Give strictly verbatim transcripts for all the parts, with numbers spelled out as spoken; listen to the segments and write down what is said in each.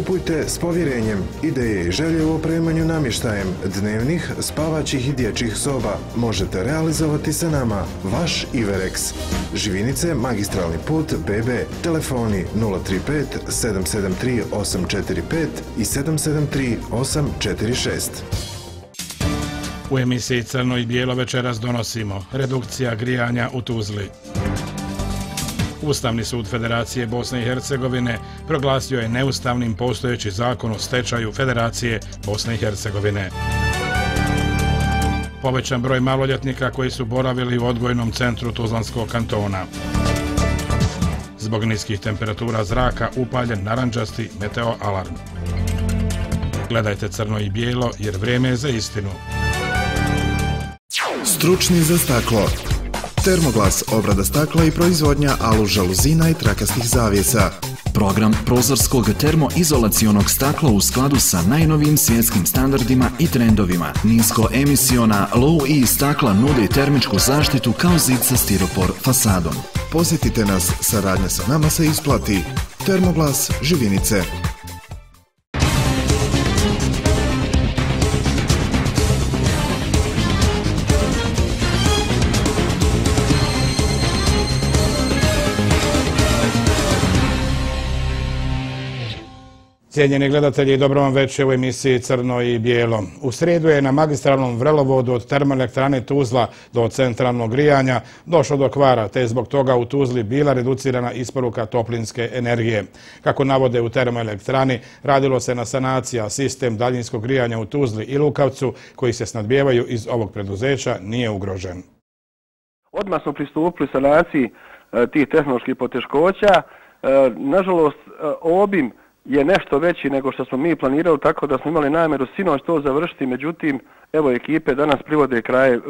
Kupujte s povjerenjem. Ideje i želje u opremanju namještajem dnevnih, spavaćih i dječjih soba možete realizovati sa nama. Vaš Iverex. Živinice, magistralni put B B. Telefoni nula tri pet sedam sedam tri osam četiri pet i sedam sedam tri osam četiri šest. U emisiji Crno i bijelo večeras donosimo redukcija grijanja u Tuzli. Ustavni sud Federacije Bosne i Hercegovine proglasio je neustavnim postojeći zakon o stečaju Federacije Bosne i Hercegovine. Povećan broj maloljetnika koji su boravili u odgojnom centru Tuzlanskog kantona. Zbog niskih temperatura zraka upaljen narandžasti meteo alarm. Gledajte Crno i bijelo jer vrijeme je za istinu. Stručni za staklo. Termoglas, obrada stakla i proizvodnja alu žaluzina i trakastih zavjesa. Program prozorskog termoizolacionog stakla u skladu sa najnovijim svjetskim standardima i trendovima. Niskoemisiona low-E stakla nudi termičku zaštitu kao zid sa stiropor fasadom. Posjetite nas, saradnja sa nama se isplati. Termoglas, Živinice. Cijenjeni gledatelji, dobro vam večer u emisiji Crno i bijelo. U srijedu je na magistralnom vrelovodu od termoelektrane Tuzla do centralnog grijanja došlo do kvara, te je zbog toga u Tuzli bila reducirana isporuka toplinske energije. Kako navode u termoelektrani, radilo se na sanacija sistem daljinskog grijanja u Tuzli i Lukavcu, koji se snadbijevaju iz ovog preduzeća, nije ugrožen. Odmah smo pristupili sanaciji tih tehnoloških poteškoća. Nažalost, obim je nešto veći nego što smo mi planirali, tako da smo imali namjeru sinoć to završiti, međutim, evo ekipe danas privode kraje,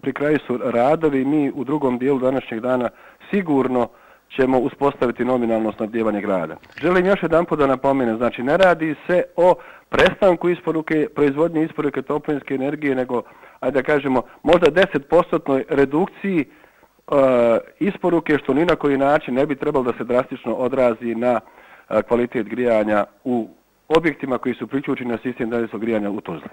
pri kraju su radovi i mi u drugom dijelu današnjeg dana sigurno ćemo uspostaviti nominalno snabdijevanje grada. Želim još jedan put da napomenem, znači ne radi se o prestanku isporuke, proizvodnje isporuke toplinske energije, nego, ajde da kažemo, možda deset posto redukciji uh, isporuke, što ni na koji način ne bi trebalo da se drastično odrazi na kvalitet grijanja u objektima koji su priključeni na sistem daljinskog grijanja u Tuzli.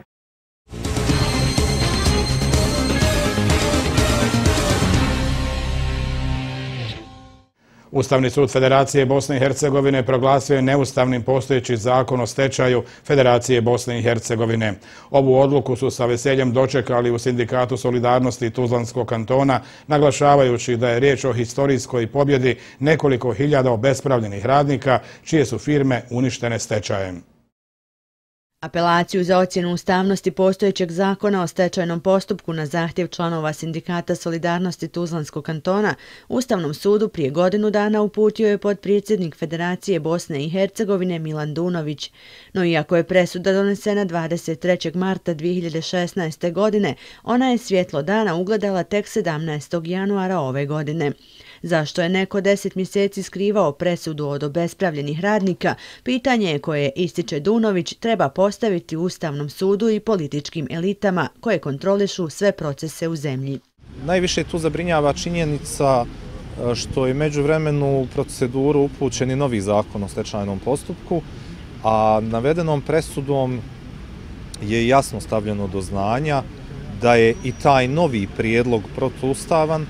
Ustavni sud Federacije Bosne i Hercegovine proglasio je neustavnim postojeći zakon o stečaju Federacije Bosne i Hercegovine. Ovu odluku su sa veseljem dočekali u Sindikatu solidarnosti Tuzlanskog kantona, naglašavajući da je riječ o historijskoj pobjedi nekoliko hiljada obespravljenih radnika, čije su firme uništene stečajem. Apelaciju za ocjenu ustavnosti postojećeg zakona o stečajnom postupku na zahtjev članova Sindikata solidarnosti Tuzlanskog kantona Ustavnom sudu prije godinu dana uputio je potpredsjednik Federacije Bosne i Hercegovine Milan Dunović. No iako je presuda donesena dvadeset trećeg marta dvije hiljade šesnaeste. godine, ona je svjetlo dana ugledala tek sedamnaestog januara ove godine. Zašto je neko deset mjeseci skrivao presudu od obespravljenih radnika, pitanje je koje, ističe Dunović, treba postaviti Ustavnom sudu i političkim elitama koje kontrolišu sve procese u zemlji. Najviše tu zabrinjava činjenica što je međuvremenu u proceduru upućen i novi zakon o stečajnom postupku, a navedenom presudom je jasno stavljeno do znanja da je i taj novi prijedlog protuustavan,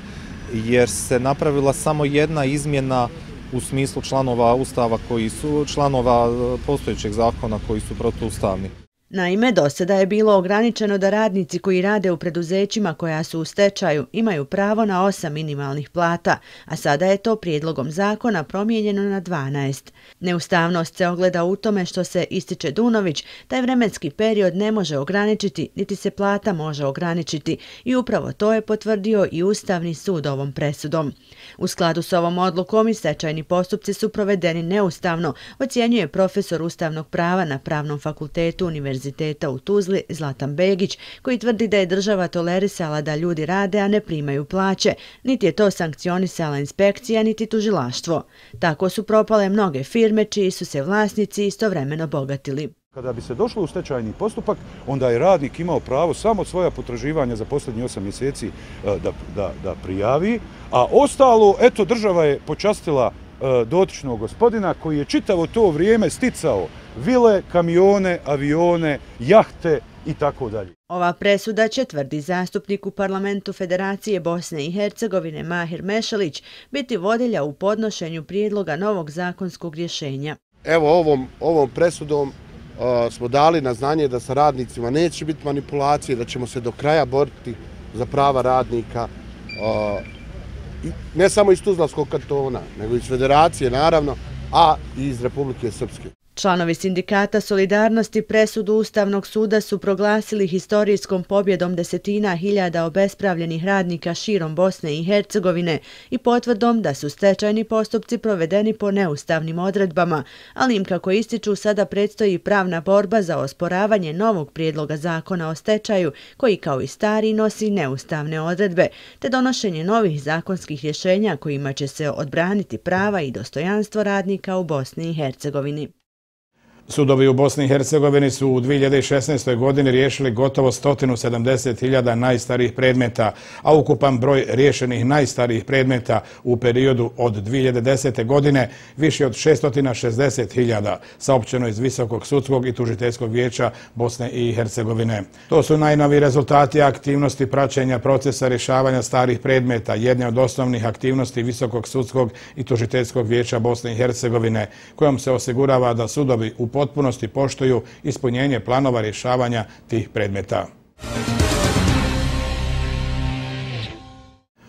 jer se napravila samo jedna izmjena u smislu članova Ustava koji su, članova postojećeg zakona koji su protuustavni. Naime, do sada je bilo ograničeno da radnici koji rade u preduzećima koja su u stečaju imaju pravo na osam minimalnih plata, a sada je to prijedlogom zakona promijenjeno na dvanaest. Neustavnost se ogleda u tome što se, ističe Dunović, taj vremenski period ne može ograničiti, niti se plata može ograničiti i upravo to je potvrdio i Ustavni sud ovom presudom. U skladu s ovom odlukom i stečajni postupci su provedeni neustavno, ocjenjuje profesor ustavnog prava na Pravnom fakultetu Univerziteta u Tuzli Zlatan Begić, koji tvrdi da je država tolerisala da ljudi rade, a ne primaju plaće, niti je to sankcionisala inspekcija, niti tužilaštvo. Tako su propale mnoge firme čiji su se vlasnici istovremeno bogatili. Kada bi se došlo u stečajni postupak, onda je radnik imao pravo samo svoja potraživanja za posljednjih osam mjeseci da, da, da prijavi, a ostalo, eto, država je počastila dotičnog gospodina koji je čitavo to vrijeme sticao vile, kamione, avione, jahte i tako dalje. Ova presuda će, tvrdi zastupnik u parlamentu Federacije Bosne i Hercegovine Mahir Mešalić, biti vodilja u podnošenju prijedloga novog zakonskog rješenja. Evo ovom, ovom presudom uh, smo dali na znanje da sa radnicima neće biti manipulacije, da ćemo se do kraja boriti za prava radnika, uh, ne samo iz Tuzlanskog kantona, nego iz Federacije naravno, a i iz Republike Srpske. Članovi sindikata Solidarnosti presudu Ustavnog suda su proglasili historijskom pobjedom desetina hiljada obespravljenih radnika širom Bosne i Hercegovine i potvrdom da su stečajni postupci provedeni po neustavnim odredbama, ali im, kako ističu, sada predstoji pravna borba za osporavanje novog prijedloga zakona o stečaju, koji kao i stari nosi neustavne odredbe, te donošenje novih zakonskih rješenja kojima će se odbraniti prava i dostojanstvo radnika u Bosni i Hercegovini. Sudovi u Bosni i Hercegovini su u dvije hiljade šesnaestoj. godini riješili gotovo sto sedamdeset hiljada najstarijih predmeta, a ukupan broj riješenih najstarijih predmeta u periodu od dvije hiljade desete. godine više od šesto šezdeset hiljada, saopćeno iz Visokog sudskog i tužiteljskog vijeća Bosne i Hercegovine. To su najnoviji rezultati aktivnosti praćenja procesa rješavanja starih predmeta, jedne od osnovnih aktivnosti Visokog sudskog i tužiteljskog vijeća Bosne i Hercegovine, kojom se osigurava da sudovi u potpunosti poštuju ispunjenje planova rješavanja tih predmeta.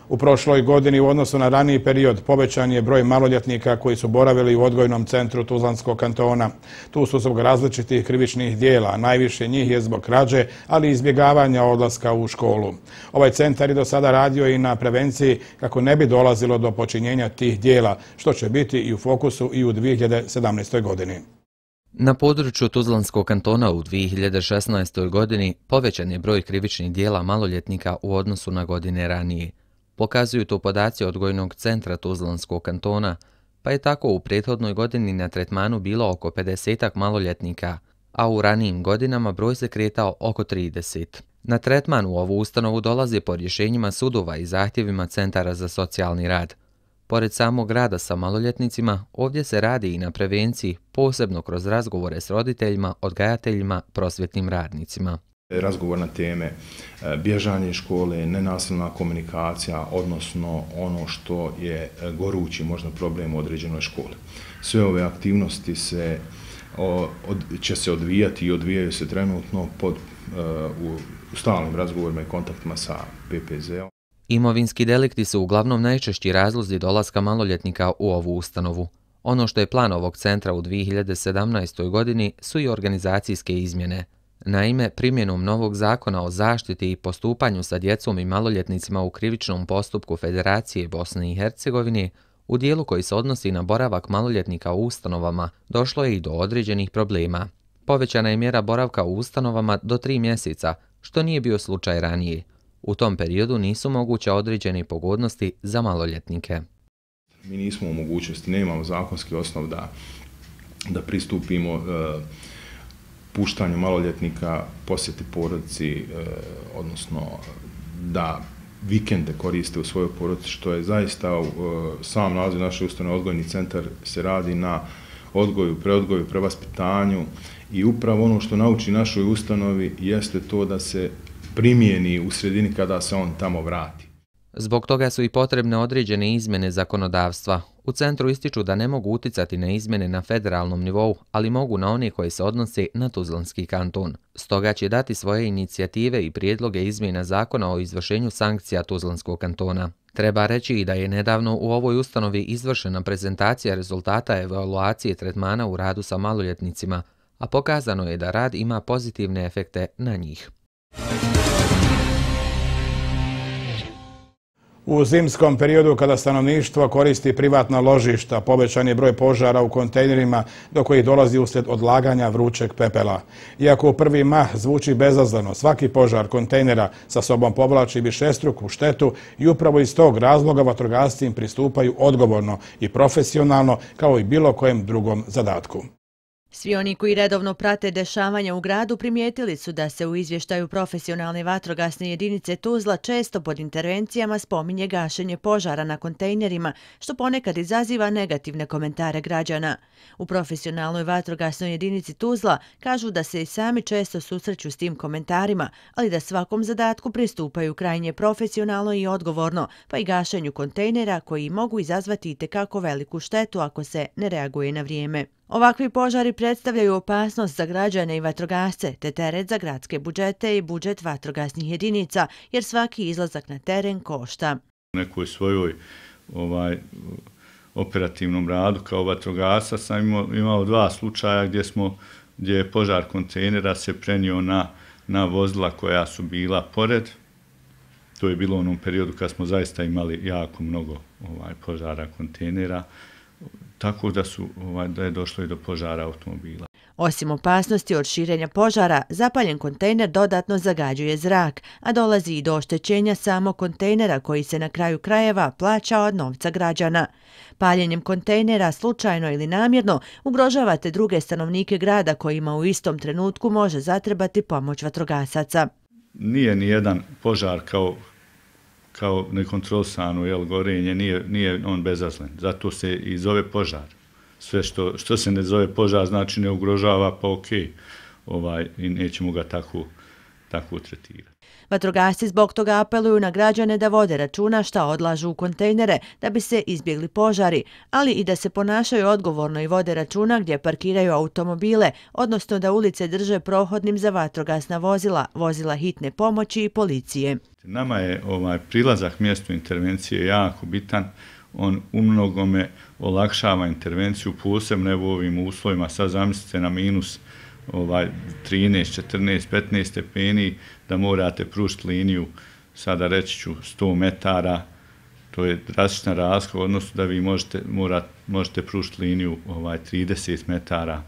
U prošloj godini u odnosu na raniji period povećan je broj maloljetnika koji su boravili u odgojnom centru Tuzlanskog kantona. Tu su zbog različitih krivičnih dijela, najviše njih je zbog krađe, ali i izbjegavanja odlaska u školu. Ovaj centar je do sada radio i na prevenciji kako ne bi dolazilo do počinjenja tih dijela, što će biti i u fokusu i u dvije hiljade sedamnaestoj. godini. Na području Tuzlanskog kantona u dvije hiljade šesnaestoj. godini povećan je broj krivičnih dijela maloljetnika u odnosu na godine ranije. Pokazuju to podaci odgojnog centra Tuzlanskog kantona, pa je tako u prethodnoj godini na tretmanu bilo oko pedesetak maloljetnika, a u ranijim godinama broj se kretao oko trideset. Na tretman u ovu ustanovu dolaze po rješenjima sudova i zahtjevima centara za socijalni rad. Pored samog rada sa maloljetnicima, ovdje se radi i na prevenciji, posebno kroz razgovore s roditeljima, odgajateljima, prosvjetnim radnicima. Razgovor na teme bježanje iz škole, nenasilna komunikacija, odnosno ono što je gorući možda problem u određenoj školi. Sve ove aktivnosti se, od, će se odvijati i odvijaju se trenutno pod, u, u stalnim razgovorima i kontaktima sa P P Z-om. Imovinski delikti su uglavnom najčešći razlozi dolaska maloljetnika u ovu ustanovu. Ono što je plan ovog centra u dvije hiljade sedamnaestoj. godini su i organizacijske izmjene. Naime, primjenom novog zakona o zaštiti i postupanju sa djecom i maloljetnicima u krivičnom postupku Federacije Bosne i Hercegovine, u dijelu koji se odnosi na boravak maloljetnika u ustanovama, došlo je i do određenih problema. Povećana je mjera boravka u ustanovama do tri mjeseca, što nije bio slučaj ranije. U tom periodu nisu moguće određene pogodnosti za maloljetnike. Mi nismo u mogućnosti, nemamo zakonski osnov da, da pristupimo e, puštanju maloljetnika, posjeti porodici, e, odnosno da vikende koriste u svojoj porodici, što je zaista e, sam naziv naše ustanove odgojni centar se radi na odgoju, preodgoju, prevaspitanju i upravo ono što nauči našoj ustanovi jeste to da se primijeni u sredini kada se on tamo vrati. Zbog toga su i potrebne određene izmjene zakonodavstva. U centru ističu da ne mogu uticati na izmjene na federalnom nivou, ali mogu na one koje se odnose na Tuzlanski kanton. Stoga će dati svoje inicijative i prijedloge izmjena zakona o izvršenju sankcija Tuzlanskog kantona. Treba reći i da je nedavno u ovoj ustanovi izvršena prezentacija rezultata evaluacije tretmana u radu sa maloljetnicima, a pokazano je da rad ima pozitivne efekte na njih. U zimskom periodu kada stanovništvo koristi privatna ložišta, povećan je broj požara u kontejnerima do kojih dolazi uslijed odlaganja vrućeg pepela. Iako u prvi mah zvuči bezazleno, svaki požar kontejnera sa sobom povlači višestruku štetu i upravo iz tog razloga vatrogasci im pristupaju odgovorno i profesionalno kao i bilo kojem drugom zadatku. Svi oni koji redovno prate dešavanja u gradu primijetili su da se u izvještaju profesionalne vatrogasne jedinice Tuzla često pod intervencijama spominje gašenje požara na kontejnerima, što ponekad izaziva negativne komentare građana. U profesionalnoj vatrogasnoj jedinici Tuzla kažu da se i sami često susreću s tim komentarima, ali da svakom zadatku pristupaju krajnje profesionalno i odgovorno, pa i gašenju kontejnera koji mogu izazvati itekako veliku štetu ako se ne reaguje na vrijeme. Ovakvi požari predstavljaju opasnost za građane i vatrogasce, te teret za gradske budžete i budžet vatrogasnih jedinica, jer svaki izlazak na teren košta. U nekoj svojoj ovaj, operativnom radu kao vatrogasca sam imao, imao dva slučaja gdje, smo, gdje je požar kontejnera se prenio na, na vozila koja su bila pored. To je bilo u onom periodu kad smo zaista imali jako mnogo ovaj, požara kontejnera, tako da, su, ovaj, da je došlo i do požara automobila. Osim opasnosti od širenja požara, zapaljen kontejner dodatno zagađuje zrak, a dolazi i do oštećenja samog kontejnera koji se na kraju krajeva plaća od novca građana. Paljenjem kontejnera, slučajno ili namjerno, ugrožavate druge stanovnike grada kojima u istom trenutku može zatrebati pomoć vatrogasaca. Nije ni jedan požar kao kao nekontrolisano jel, gorenje, nije, nije on bezazlen. Zato se i zove požar. Sve što, što se ne zove požar znači ne ugrožava, pa ok, ovaj, i nećemo ga tako, tako tretirati. Vatrogasci zbog toga apeluju na građane da vode računa šta odlažu u kontejnere da bi se izbjegli požari, ali i da se ponašaju odgovorno i vode računa gdje parkiraju automobile, odnosno da ulice drže prohodnim za vatrogasna vozila, vozila hitne pomoći i policije. Nama je ovaj prilazak mjestu intervencije jako bitan. On u mnogome olakšava intervenciju, posebno u ovim uslovima. Sad zamislite na minus ovaj, trinaest, četrnaest, petnaest stepeni, da morate pružiti liniju, sada reći ću sto metara, to je drastična razlika, odnosno da vi možete, morate, možete pružiti liniju ovaj, trideset metara,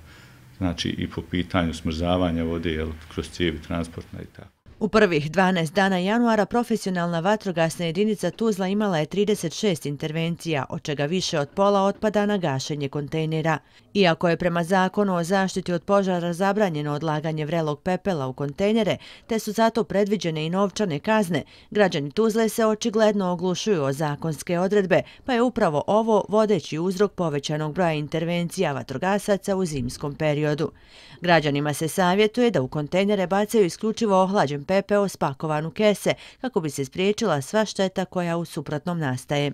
znači i po pitanju smrzavanja vode, jel, kroz cijevi transportna i tako. U prvih dvanaest dana januara profesionalna vatrogasna jedinica Tuzla imala je trideset šest intervencija, od čega više od pola otpada na gašenje kontejnera. Iako je prema zakonu o zaštiti od požara zabranjeno odlaganje vrelog pepela u kontejnere, te su zato predviđene i novčane kazne, građani Tuzle se očigledno oglušuju o zakonske odredbe, pa je upravo ovo vodeći uzrok povećanog broja intervencija vatrogasaca u zimskom periodu. Građanima se savjetuje da u kontejnere bacaju isključivo ohlađen pepeo spakovan u kese kako bi se spriječila sva šteta koja u suprotnom nastaje.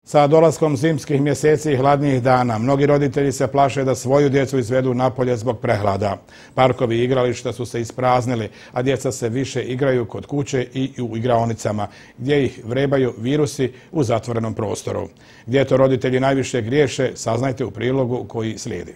Sa dolaskom zimskih mjeseci i hladnijih dana, mnogi roditelji se plaše da svoju djecu izvedu napolje zbog prehlada. Parkovi i igrališta su se ispraznili, a djeca se više igraju kod kuće i u igraonicama, gdje ih vrebaju virusi u zatvorenom prostoru. Gdje to roditelji najviše griješe, saznajte u prilogu koji slijedi.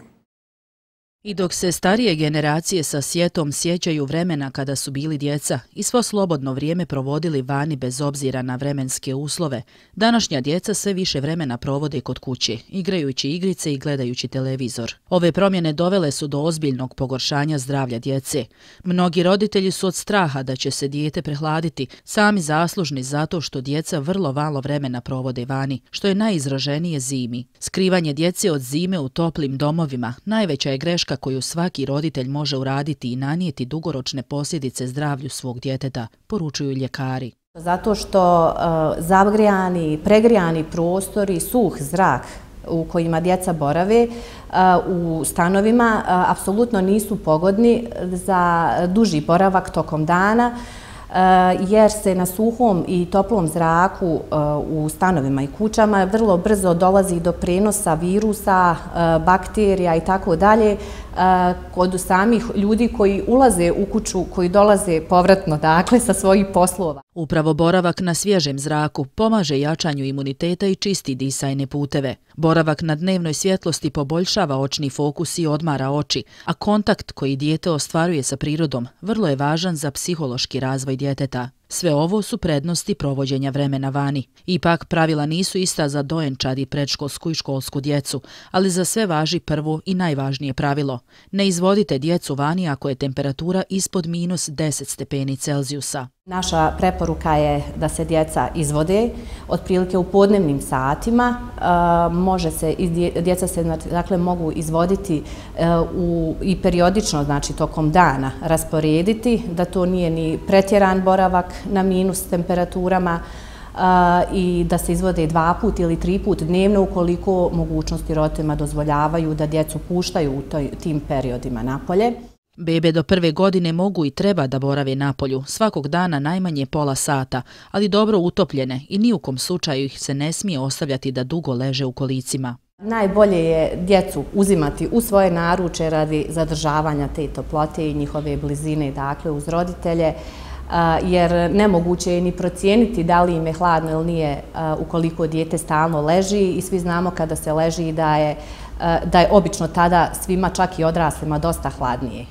I dok se starije generacije sa sjetom sjećaju vremena kada su bili djeca i svo slobodno vrijeme provodili vani bez obzira na vremenske uslove, današnja djeca sve više vremena provode kod kuće, igrajući igrice i gledajući televizor. Ove promjene dovele su do ozbiljnog pogoršanja zdravlja djece. Mnogi roditelji su od straha da će se dijete prehladiti sami zaslužni zato što djeca vrlo malo vremena provode vani, što je najizraženije zimi. Skrivanje djece od zime u toplim domovima najveća je greška koju svaki roditelj može uraditi i nanijeti dugoročne posljedice zdravlju svog djeteta, poručuju ljekari. Zato što uh, zagrijani, pregrijani prostori, suh zrak u kojima djeca borave uh, u stanovima uh, apsolutno nisu pogodni za duži boravak tokom dana, jer se na suhom i toplom zraku u stanovima i kućama vrlo brzo dolazi do prenosa virusa, bakterija i tako dalje kod samih ljudi koji ulaze u kuću, koji dolaze povratno, dakle, sa svojih poslova. Upravo boravak na svježem zraku pomaže jačanju imuniteta i čisti disajne puteve. Boravak na dnevnoj svjetlosti poboljšava očni fokus i odmara oči, a kontakt koji dijete ostvaruje sa prirodom vrlo je važan za psihološki razvoj djeteta. Sve ovo su prednosti provođenja vremena vani. Ipak pravila nisu ista za dojenčad i predškolsku i školsku djecu, ali za sve važi prvo i najvažnije pravilo. Ne izvodite djecu vani ako je temperatura ispod minus deset stepeni Celzijusa. Naša preporuka je da se djeca izvode otprilike u podnevnim satima. Može se, djeca se dakle, mogu izvoditi u, i periodično, znači tokom dana rasporediti, da to nije ni pretjeran boravak na minus temperaturama i da se izvode dva put ili tri put dnevno ukoliko mogućnosti roditeljima dozvoljavaju da djecu puštaju u toj, tim periodima napolje. Bebe do prve godine mogu i treba da borave napolju, svakog dana najmanje pola sata, ali dobro utopljene i ni u kom slučaju ih se ne smije ostavljati da dugo leže u kolicima. Najbolje je djecu uzimati u svoje naruče radi zadržavanja te toplote i njihove blizine, dakle uz roditelje, jer nemoguće je ni procijeniti da li im je hladno ili nije ukoliko dijete stalno leži i svi znamo kada se leži da je, da je obično tada svima, čak i odraslima, dosta hladnije.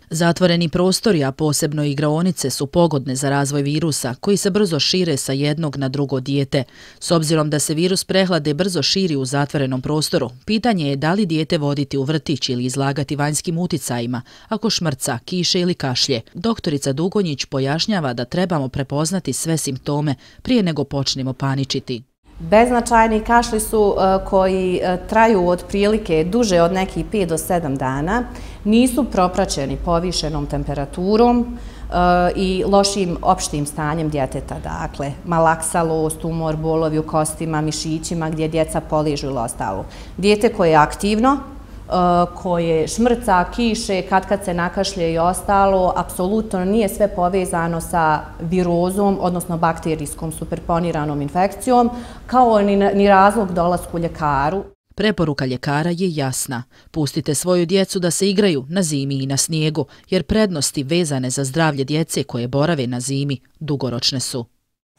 Zatvoreni prostori, a posebno igraonice, su pogodne za razvoj virusa koji se brzo šire sa jednog na drugo dijete. S obzirom da se virus prehlade brzo širi u zatvorenom prostoru, pitanje je da li dijete voditi u vrtić ili izlagati vanjskim uticajima, ako šmrca, kiše ili kašlje. Doktorica Dugonjić pojašnjava da trebamo prepoznati sve simptome prije nego počnemo paničiti. Beznačajni kašlji su koji traju otprilike duže od nekih pet do sedam dana, nisu propraćeni povišenom temperaturom i lošim opštim stanjem djeteta, dakle malaksalost, tumor, bolovi u kostima, mišićima gdje djeca poližu ili ostalo. Dijete koje je aktivno, koje šmrca, kiše, kad kad se nakašlje i ostalo, apsolutno nije sve povezano sa virozom, odnosno bakterijskom superponiranom infekcijom, kao ni razlog dolasku ljekaru. Preporuka ljekara je jasna. Pustite svoju djecu da se igraju na zimi i na snijegu, jer prednosti vezane za zdravlje djece koje borave na zimi dugoročne su.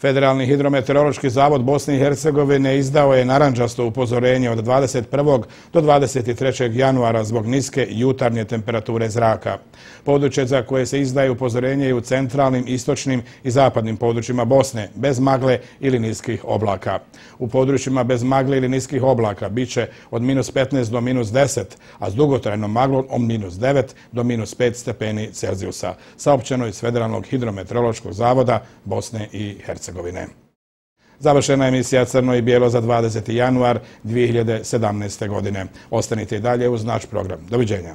Federalni hidrometeorološki zavod Bosne i Hercegovine izdao je narandžasto upozorenje od dvadeset prvog do dvadeset trećeg januara zbog niske jutarnje temperature zraka. Područje za koje se izdaje upozorenje je u centralnim, istočnim i zapadnim područjima Bosne, bez magle ili niskih oblaka. U područjima bez magle ili niskih oblaka bit će od minus petnaest do minus deset, a s dugotrajnom maglom od minus devet do minus pet stepeni Celzijusa, saopćeno iz Federalnog hidrometeorološkog zavoda Bosne i Hercegovine. Završena je emisija Crno i bijelo za dvadeseti januar dvije hiljade sedamnaeste. godine. Ostanite i dalje uz naš program. Doviđenja.